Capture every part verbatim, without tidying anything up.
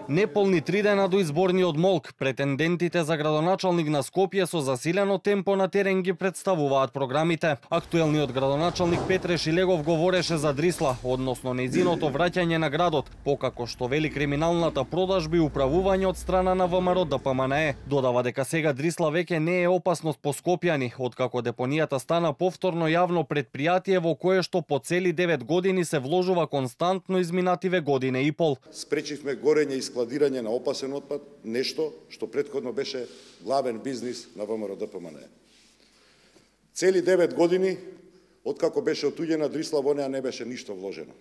Неполни три дена до изборниот молк, претендентите за градоначалник на Скопје со засилено темпо на терен ги представуваат програмите. Актуелниот градоначалник Петре Шилегов говореше за Дрисла, односно нејзиното враќање на градот, покако што вели криминалната продажби и управување од страна на ВМРО Д П М Н Е. Додава дека сега Дрисла веќе не е опасност по скопјани, откако депонијата стана повторно јавно предпријатие во кое што по цели девет години се вложува константно изминативе година и пол. Спречивме горење и складирање на опасен отпад, нешто што претходно беше главен бизнис на ВМРО Д П М Н Е. Цели девет години, откако беше отуѓена Дрисла, во неа не беше ништо вложено.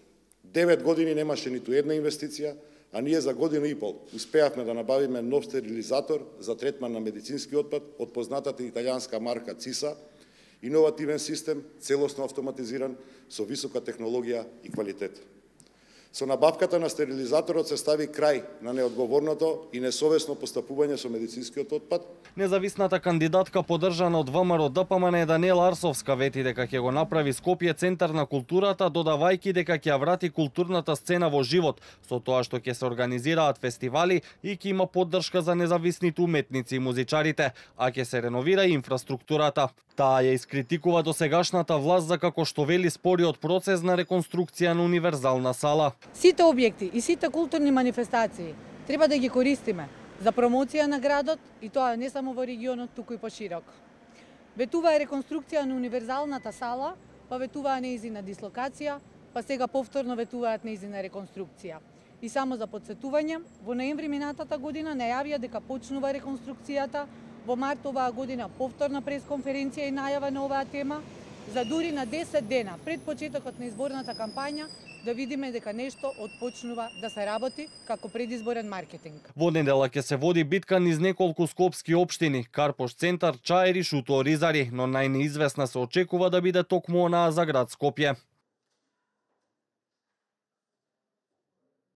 девет години немаше ниту една инвестиција, а ние за година и пол успеавме да набавиме нов стерилизатор за третман на медицински отпад од познатата италијанска марка ЦИСА, иновативен систем, целосно автоматизиран, со висока технологија и квалитет. Со набавката на стерилизаторот се стави крај на неодговорното и несовесно постапување со медицинскиот отпад. Независната кандидатка подржана од ВМРО Д П М Н Е Даниела Арсовска вети дека ќе го направи Скопје центар на културата, додавајќи дека ќе ја врати културната сцена во живот, со тоа што ќе се организираат фестивали и ќе има поддршка за независните уметници и музичарите, а ќе се реновира и инфраструктурата. Таа ја искритикува досегашната власт за како што вели спориот процес на реконструкција на универзална сала. Сите објекти и сите културни манифестации треба да ги користиме за промоција на градот, и тоа не само во регионот, туку и поширок. Ветуваа реконструкција на универзалната сала, па ветуваа нејзина дислокација, па сега повторно ветуваат нејзина реконструкција. И само за потсетување, во ноември минатата година најавија дека почнува реконструкцијата, во март оваа година повторна пресконференција и најава на оваа тема, за дури на десет дена пред почетокот на изборната кампања да видиме дека нешто отпочнува да се работи како предизборен маркетинг. Во недела ќе се води битка низ неколку скопски општини, Карпош центар, Чаир и Шуто Оризари, но најнеизвестна се очекува да биде токму онаа за град Скопје.